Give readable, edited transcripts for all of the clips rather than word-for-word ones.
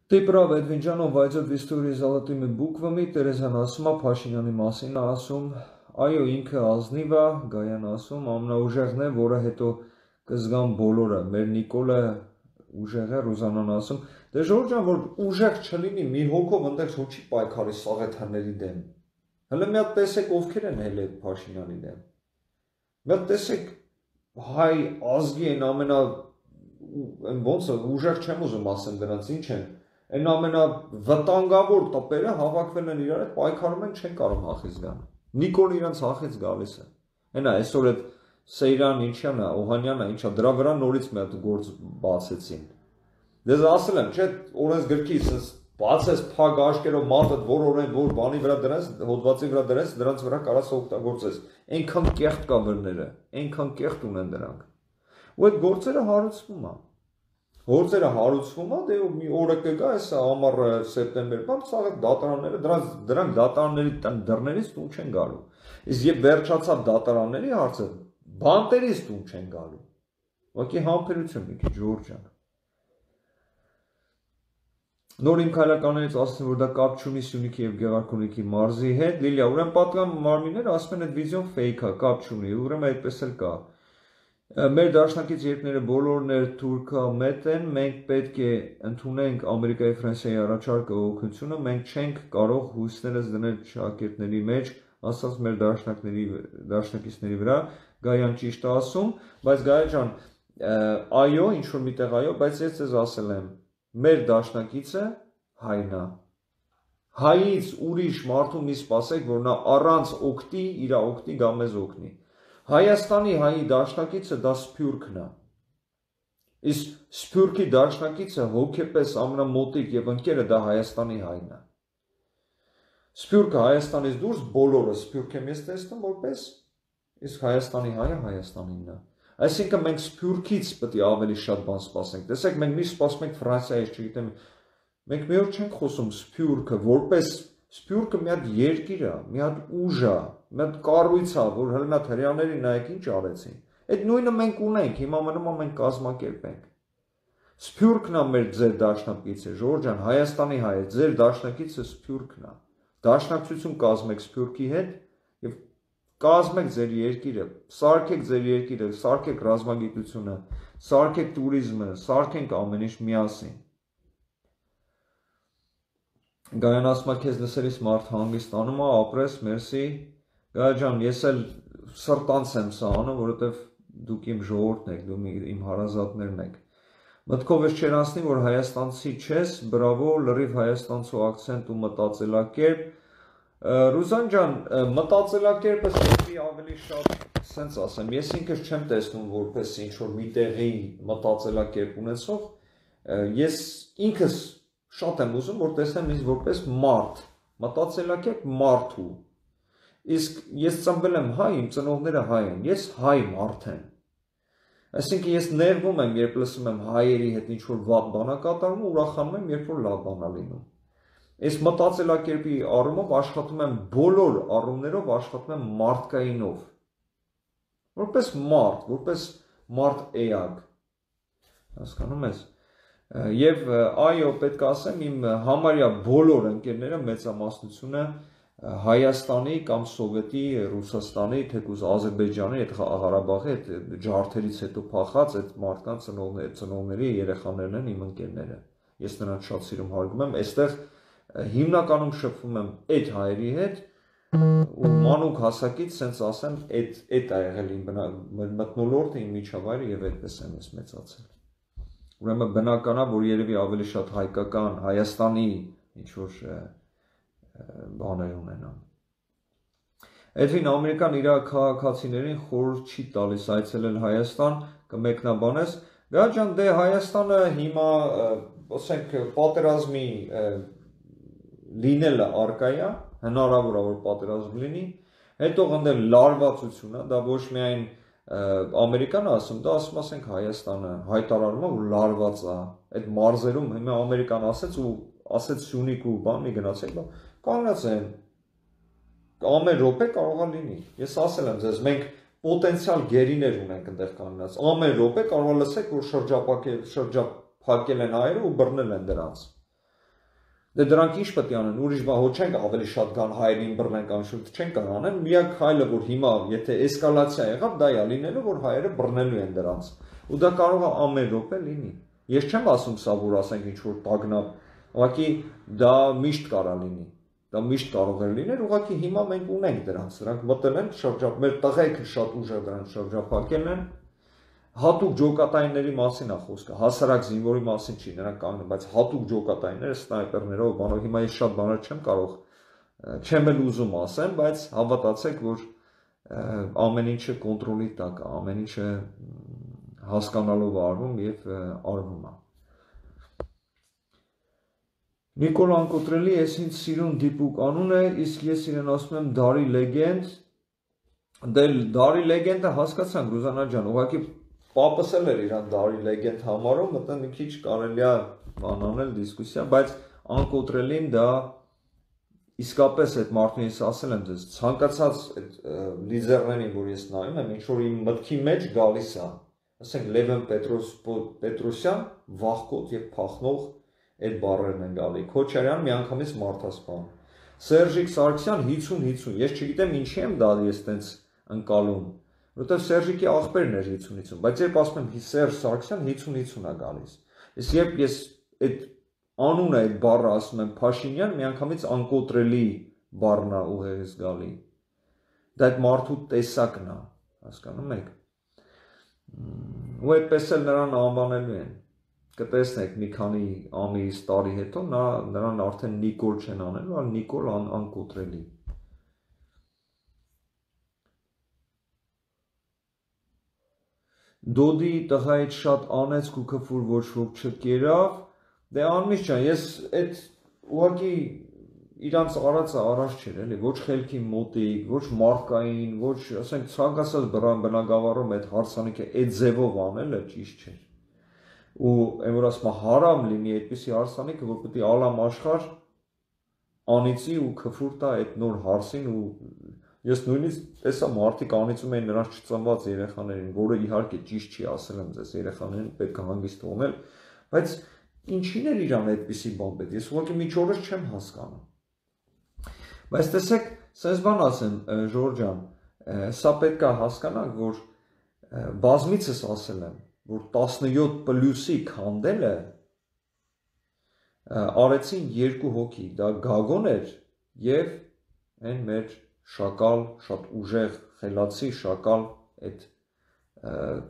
Ты прав, Эдвинջանով, բայց այդ истории золотыми буквами Տերեզան ասում է Փաշինյանի մասին, ասում, այո, ինքը ազնիվ է, Գայան ասում, ամենաուժեղն է, որը հետո կզգան բոլորը, մեր Նիկոլը ուժեղ է, Ռուզանան ասում, դե Ժորժ ջան, որ ուժեղ չլինի, մի հոգով այնտեղ որ չի պայքարի Սաղեթյանների դեմ։ Հələ մի հատ տեսեք ովքեր են հել այդ Փաշինյանի դեմ։ Մի հատ տեսեք հայ ազգի են ամենա ոնց է ուժեղ չեմ ուզում ասեմ դրանց ինչ են Այն ամենավտանգավոր տպերը հավաքվել են իրար հետ պայքարում են չեն կարող հախից գան։ Նիկոլ իրանց հախից գալիս է։ Այնա այսօր այդ Սեյրան ինչյանը, Օհանյանը ինչա դրա վրա նորից մի հատ գործ բացեցին։ Դες ասել եմ, չէ, օրենսգրքից բացես փակ աշկերով մատդ որ բանի վրա դրանց հոդվածի վրա դրանց դրանց վրա կարաս օգտագործես։ Այնքան կեղտ կա վրները, այնքան կեղտ ունեն դրանք։ Ու այդ գործերը հարուցվում է։ Գործերը հարուցվում է, դե մի օրը կգա, այս ամառ սեպտեմբեր, բան ցավոք դատարանները դրանք դատարանների դռներից տուն չեն գալու։ Իսկ երբ վերջացավ դատարանների հարցը, բանտերից տուն չեն գալու։ Ուղղակի համբերություն մի քիչ Ժորժ ջան։ Նոր իմ քայլականներից ասում որ դա կապ չունի Սյունիքի եւ Գեղարքունիքի մարզի հետ, Լիլիա, ուրեմն պատկան մարմինները ասում են այդ վիդեոն ֆեյք է, կապ չունի, ուրեմն այդպես էլ կա։ Մեր դաշնակից երկները բոլորն էր թուրքամետ են, մենք պետք է ընդունենք Ամերիկայի Ֆրանսիայի առաջարկը օգնությունը, մենք չենք կարող հույսներս դնել շակերտների մեջ, ասած մեր դաշնակիցների վրա, Գայան ճիշտ է ասում, բայց Գայա ջան, այո, ինչ որ միտեղ այո, բայց ես ձեզ ասել եմ, մեր դաշնակիցը հայն է։ Հայից ուրիշ մարդու մի սպասեք, որ նա առանց օգտի, իր օգտի գա մեզ օգնի։ Հայաստանի հայի դաշնակիցը դա Սփյուռքն է։ Իսկ Սփյուռքի դաշնակիցը հոգեպես ամենամոտիկ եւ ընկերը դա Հայաստանի հայն է։ Սփյուռքը Հայաստանից դուրս բոլորը Սփյուռք եմ ես տեսնում որպես իսկ Հայաստանի հայը Հայաստանինն է։ Այսինքն մենք Սփյուռքից պետք է ավելի շատ բան սպասենք։ Տեսեք, մենք մի սպասում ենք Ֆրանսիայից, չգիտեմ, մենք մի օր չենք խոսում Սփյուռքը որպես Սփյուռքը մի հատ երկիր է, մի հատ ուժ է, մի հատ կառույց է, որ հենց այդ հрьяաների նայեք ինչ արեցին։ Այդ նույնը մենք ունենք, հիմա մնում է մենք կազմակերպենք։ Սփյուռքն է մեր ձեր դաշնակիցը, Ժորժ ջան, Հայաստանի հայը, ձեր դաշնակիցը Սփյուռքն է։ Դաշնակցություն կազմեք Սփյուռքի հետ եւ կազմեք ձեր երկիրը, սարքեք ձեր երկիրը, սարքեք ռազմագիտությունը, սարքեք туриզմը, սարքենք ամեն ինչ միասին։ Գայան ասում է քեզ լսելիս մարդ հանգստանում է, ապրես, մերսի։ Գայա ջան, ես էլ սրտանց եմ սա անում, որովհետև դուք իմ ժողովուրդն եք, դուք իմ հարազատներն եք։ Մտքով ես չեր անցնի, որ հայաստանցի չես, բրավո, լրիվ հայաստանցու ակցենտ ու մտածելակերպ։ Ռուզան ջան, մտածելակերպը ստի ավելի շատ սենց ասեմ, ես ինքս չեմ տեսնում որպես ինչ որ մի տեղի մտածելակերպ ունեցող, ես ինքս շատ եմ ուզում, որ տեսնեմ ինձ որպես մարդ, մտածելակերպ մարդու։ Իսկ ես ծնվել եմ հայ, իմ ծնողները հայ են, ես հայ մարդ եմ։ Այսինքն ես ներվում եմ, երբ լսում եմ հայերի հետ ինչ որ վատ բան է կատարվում, ուրախանում եմ, երբ որ լավ բան է լինում։ Ես մտածելակերպի առումով աշխատում եմ բոլոր առումներով աշխատում եմ մարդկայինով։ Որպես մարդ էակ։ Հասկանում ես։ Եվ այո, պետք է ասեմ, իմ համարյա բոլոր ընկերները մեծամասնությունը Հայաստանի կամ Սովետի, Ռուսաստանի, թեկուզ Ադրբեջանի, այդ Ղարաբաղի, այդ ջարդերից հետո փախած այդ մարդկանց ծնողների երեխաներն են իմ ընկերները։ Ես նրանց շատ սիրում հարգում եմ, այստեղ հիմնականում շփվում եմ այդ հայերի հետ ու մանուկ հասակից, սենց ասեմ, այդ ա եղել իմ մթնոլորտը, իմ միջավայրը եւ այդպես եմ ես մեծացել։ Ուրեմն բնական է, որ երևի ավելի շատ հայկական, Հայաստանի ինչ որ բաներ ունենան։ Էդվին Ամերիկան իր քաղաքացիներին խորհուրդ չի տալիս այցելել Հայաստան, կմեկնաբանես։ Գա ջան, դե Հայաստանը հիմա, ասենք, պատերազմի լինելը արկա է, հնարավոր է որ պատերազմ լինի, հետո գնդել լարվածություն է, դա ոչ միայն Ամերիկան ասում, դա ասում ասենք Հայաստանը հայտարարում է, որ լարված է, այդ մարզերում հիմա Ամերիկան ասեց ու ասեց Սյունիք ու բան մի գնացեք, կանգնած են, ամեն րոպե կարող է լինի, ես ասել եմ ձեզ, մենք պոտենցիալ գերիներ ունենք այնտեղ կանգնած, ամեն րոպե կարող է լսեք, որ շրջափակել են հայերը ու բռնել են դրանց, Դե դրանք ինչ պետք է անեն, ուրիշ բան ոչ չենք ավելի շատ գան հայերին բռնեն կամ շուտ չեն կարող անեն, միակ քայլը որ հիմա եթե էսկալացիա եղավ, դա է լինելու, որ հայերը բռնելու են դրանց։ Ու դա կարող է ամեն րոպե լինի։ Ես չեմ ասում սա որ ասենք ինչ որ տագնապ, ուղղակի դա միշտ կարա լինի։ Դա միշտ կարող է լինել, ուղղակի հիմա մենք ունենք դրանց, դրանք մտել են շրջապ, մեր տղայքը շատ ուժեղ դրանց շրջապակել են։ Հատուկ ջոկատայինների մասին է խոսքը, հասարակ զինվորի մասին չի, նրանք կանգնում, բայց հատուկ ջոկատայինները սնայպերներով, բանով, հիմա ես շատ բաներ չեմ կարող, չեմ էլ ուզում ասեմ, բայց հավատացեք, որ ամեն ինչը կոնտրոլի տակ է, ամեն ինչը հասկանալով արվում եւ արվում է։ Նիկոլ Անկոտրելի, ես ինձ սիրուն դիպուկ անուն է, իսկ ես իրեն ասում եմ Դարի լեգենդ, դե Դարի լեգենդը հասկացանք Ռուզանա ջան, ուղղակի պապս էլ էր իրան Դարի լեգենդ համարում, մտա մի քիչ կարելի է բան անել դիսկուսիա, բայց Անկոտրելին դա իսկապես այդ մարդուն ես ասել եմ դες ցանկացած այդ լիդերներին, որ ես նայում եմ, ինչ որ իմ մտքի մեջ գալիս է, ասենք Լևոն Պետրոսյան, վախկոտ եւ փախնող այդ բառերն են գալի։ Քոչարյան միանգամից մարդասպան։ Սերժիկ Սարգսյան 50-50, ես չգիտեմ ինչի եմ դա ես տենց ընկալում, որովհետև Սերժիկի աղբերն էր 50-50, բայց երբ ասում եմ Սերժ Սարգսյան 50-50 է գալիս։ Իսկ երբ ես այդ անունը այդ բառը ասում եմ Փաշինյան, միանգամից Անկոտրելի բառն է ուղեղից գալի։ Դա այդ մարդու տեսակն է, հասկանում եք։ Ու այդպես էլ նրան անվանելու են։ Կտեսնեք մի քանի ամիս տարի հետո նրան արդեն Նիկոլ չեն անելու, այլ Նիկոլ Անկոտրելի։ Դոդի տղայից շատ անեց ու քֆուր ոչ ոք չկերավ, դե Անմիշ ջան, ես այդ ուղղակի իրանց արածը առաջ չէր, էլի, ոչ խելքի մոտիկ, ոչ մարկային, ոչ, ասենք, ցանկացած բնագավառում այդ հարսանիքը այդ ձևով անելը ճիշտ չէր։ Ու այն որ ասում հարամ լինի այդպիսի հարսանիքը, որ պետք է ալամ աշխարհ անիծի ու քֆուր տա այդ նոր հարսին ու ես նույնիսկ տեսա մարդիկ անիծում էին նրանց չծնված երեխաներին, որը իհարկե ճիշտ չի, ասել եմ ձեզ, երեխաներին պետք է հանգիստ թողնել, բայց ինչին էր իրան այդպիսի բան պետք, ես ուղղակի միջորս չեմ հասկանում։ Բայց տեսեք, սենց բան ասեմ, Ժորժ ջան, սա պետք է հասկանանք, որ բազմիցս ասել եմ, որ 17+-ի քանդելը արեցին երկու հոգի, դա Գագոն էր եւ այն մեր շակալ, շատ ուժեղ, խելացի շակալ այդ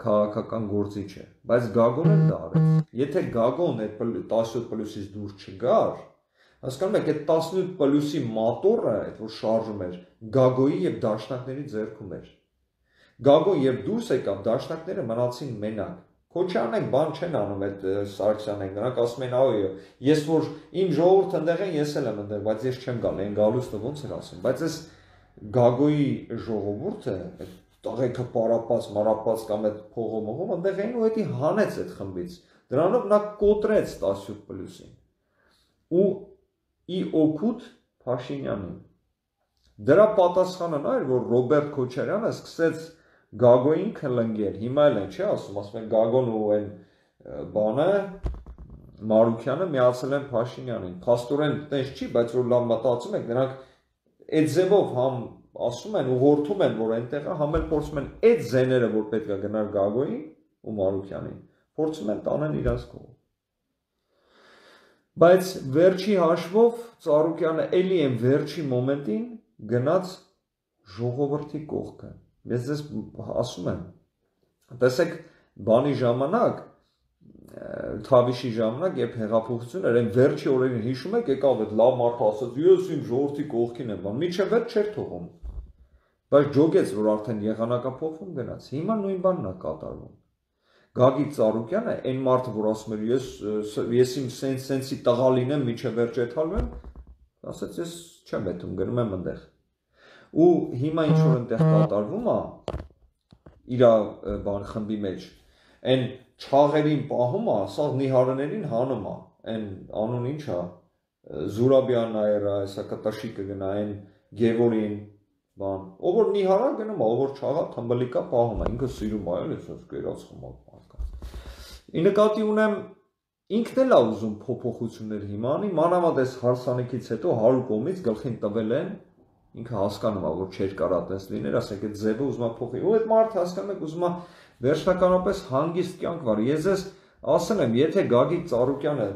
քաղաքական գործիչը, բայց Գագոն էլ դա արեց։ Եթե Գագոն այդ 17+-ից դուրս չգար, հասկանում եք, այդ 17+-ի մատորը, այդ որ շարժում էր, Գագոյի եւ դաշնակների ձեռքում էր։ Գագոն երբ դուրս եկավ, դաշնակները մնացին մենակ։ Քոչարյանն բան չեն անում այդ Սարգսյանն, նրանք ասում են, այո, ես որ իմ ժողովուրդը ընդեղ են, ես էլ եմ ընդեղ, բայց ես չեմ գալ, այն գալուստը ոնց էր ասում, բայց այս Գագոյի ժողովուրդը, այդ տղեկը պարապած, մարապած կամ այդ փողոմողում ընդեղ էին ու էդի հանեց այդ խմբից, դրանով նա կոտրեց 17+-ին ու ի օգուտ Փաշինյանին։ Դրա պատասխանը նա էր, որ Ռոբերտ Քոչարյանը սկսեց Գագոյին քլնգել, հիմա էլ են, չի ասում, ասում են Գագոն ու այն բանը Մարուքյանը միացել են Փաշինյանին, փաստորեն տես չի, բայց որ լավ մտածում եք, նրանք այդ ձևով համ ասում են, ուղղորդում են, որ այնտեղ է, համ էլ փորձում են այդ զեները, որ պետք է գնար Գագոյին ու Մարուքյանին, փորձում են տանեն իրաց կողմ։ Բայց վերջի հաշվով Ծառուկյանը էլի են վերջի մոմենտին գնաց ժողովրդի կողքը։ Ես ձեզ ասում եմ, տեսեք, բանի ժամանակ, Թավիշի ժամանակ, երբ հեղափոխություն էր, այն վերջի օրերին հիշում եք, եկավ այդ լավ մարդը ասաց, ես իմ ժողովրդի կողքին եմ, մինչև այդ չէր թողում, բայց ջոգեց, որ արդեն եղանակափոխվում գնաց, հիմա նույն բանն է կատարվում։ Գագիկ Ծառուկյանը, այն մարդը, որ ասում էր, ես իմ սենսի տղա լինեմ, մինչև վերջ եթալվեմ, ասաց, ես չեմ եթում, գնում եմ ընդեղ։ Ու հիմա ինչ որ այնտեղ կատարվում է իր բան խմբի մեջ, այն չաղերին պահում է, սա նիհարներին հանում է, այն անուն ինչ է, Զուրաբյան այրա, հեսա կտաշիկը գնա, այն Գևորին, բան, ով որ նիհարա գնում է, ով որ չաղա թմբլիկա պահում է, ինքը սիրում է, էլ ես կերած խմակ մարդկանց։ Ի նկատի ունեմ ինքն էլ է ուզում փոփոխություններ հիմա անի, մանավանդ այս հարսանիքից հետո 100 կողմից գլխին տվել են, ինքը հասկանում է, որ չէր կարա այդպես լիներ, ասենք այդ ձևը ուզում է փոխի, ու այդ մարդը հասկանում եք ուզում է վերջնականապես հանգիստ կյանք վարի։ Ես ձեզ ասել եմ, եթե Գագիկ Ծառուկյանը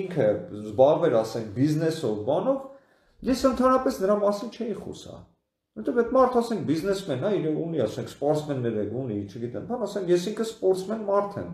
ինքը զբաղվեր, ասենք, բիզնեսով, բանով, ես ընդհանրապես նրա մասին չէի խոսա։ Որտեւ այդ մարդը, ասենք, բիզնեսմեն է, իր ունի, ասենք, սպորտսմեններ ունի, չգիտեմ, բան, ասենք, ես ինքը սպորտսմեն մարդ եմ։